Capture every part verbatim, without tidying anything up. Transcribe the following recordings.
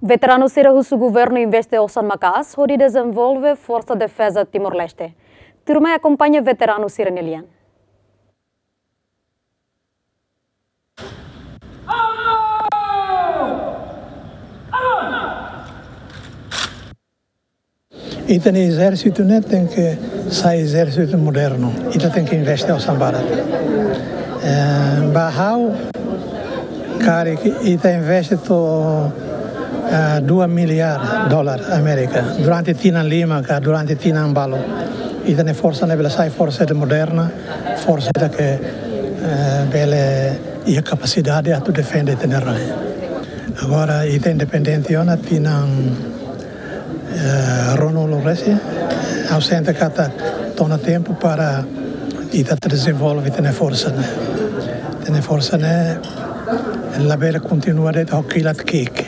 Veteranu sira husu governu investe osan maka'as hodi dezenvolve Forsa Defeza Timor-Leste. Tuirmai akompaña veteranu sira-nia lian. Ita-nia ezérsitu ne'e tenke sai ezérsitu modernu. Ita tenke investe osan barak. Eh, ba ha'u, karik ita investe to'o, eh, dua miliar dolar Amérika durante tinan lima ka durante tinan balu. Ita-nia forsa ne'e bele sai forsa ida moderna, forsa ida ke, eh, bele iha kapasidade atu defende ita-nia rai. Agora, ita independente ona tinan, eh, ruanulu resin, ha'u sente katak to'o ona tempu para ita atu dezenvolve ita-nia forsa ne'e. Ita-nia forsa ne'e labele kontinua de'it ho kilat ki'ik.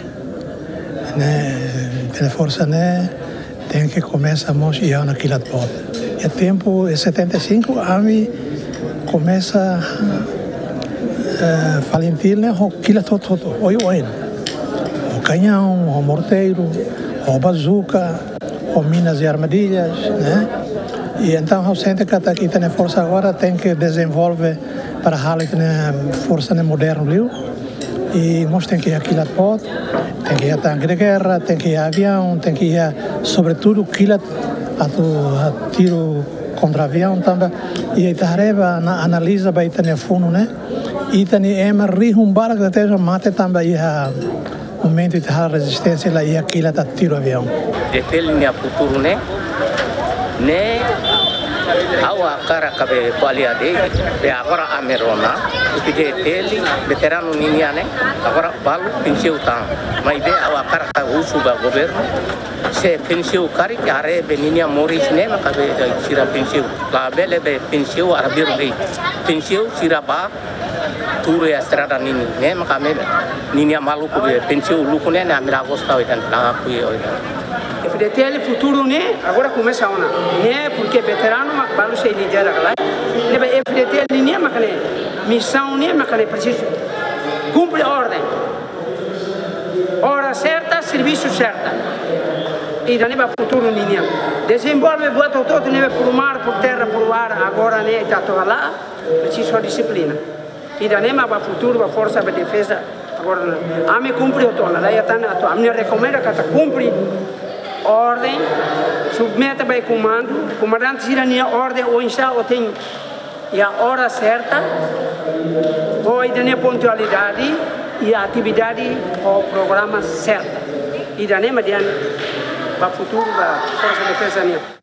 Ne'e, ita-nia forsa ne'e tenke komesa mós iha ona kilat boot. Iha tempu setenta e cinco, ami komesa, eh, FALINTIL ne'e ho kilat hotu-hotu, oioin. Ho kañaun, ho morteiru, ho bazuka, ho minas e armadillas, ne'e? I entaun, ha'u sente katak ita-nia forsa agora tenke dezenvolve para halo ita-nia forsa ne'e modernu liu. I mós tenke iha kilat boot, tenke iha tanke de gerra, tenke iha aviaun, tenke iha, sobretudu, kilat atu, ah, tiru kontra aviaun tanba. I ita haree ba, ita analiza ba ita-nia funu ne'e, ita-nia ema rihun barak tebes mate tanba iha momentu ita halo rezisténsia la iha kilat atu tiru aviaun. F-FDTL nia futuru ne'e, ne'e ha'u hakarak kabe ko'alia de'it, be agora ami rona, F-FDTL veteranu ninian ne'e, agora balu pensiun tan. Maibé ha'u hakarak husu ba governu, se pensiun karik haree be ninia moris ne'e maka be sira pensiun. Labele be pensiun arbiru de'it. Pensiun sira ba tuur iha estrada ninin, ne'e maka ami, ninia maluku be pensiun uluk ne'e, ne'e ami la gosta oidan, la akui oidan. F-FDTL futuru ne'e agora komesa ona. Ne'e porke veteranu mak balu sei lidera kala. Ne'ebé F-FDTL ninian maka ne'e, misaun ne'e maka ne'e presiza kumpre orden. Ora serta, servisu serta. Ida-ne'e ba futuru ninian. Dezenvolve buat hotu-hotu ne'ebé por mar, por terra, por ar, agora ne'e ita atu hala'o, presiza dixiplina. Ida-ne'e mak ba futuru, ba forsa, ba defeza. Agora ne'e, ami kumpre hotu ona, la iha tan atu, ami rekomenda katak kumpre orden, submete ba komandu, komandante sira-nia orden oinsá, oten iha ora serta, ho ida-ne'e pontualidade, iha atividade ho programa serta. Ida-ne'e mak di'ak ba futuru ba Forsa Defeza nian.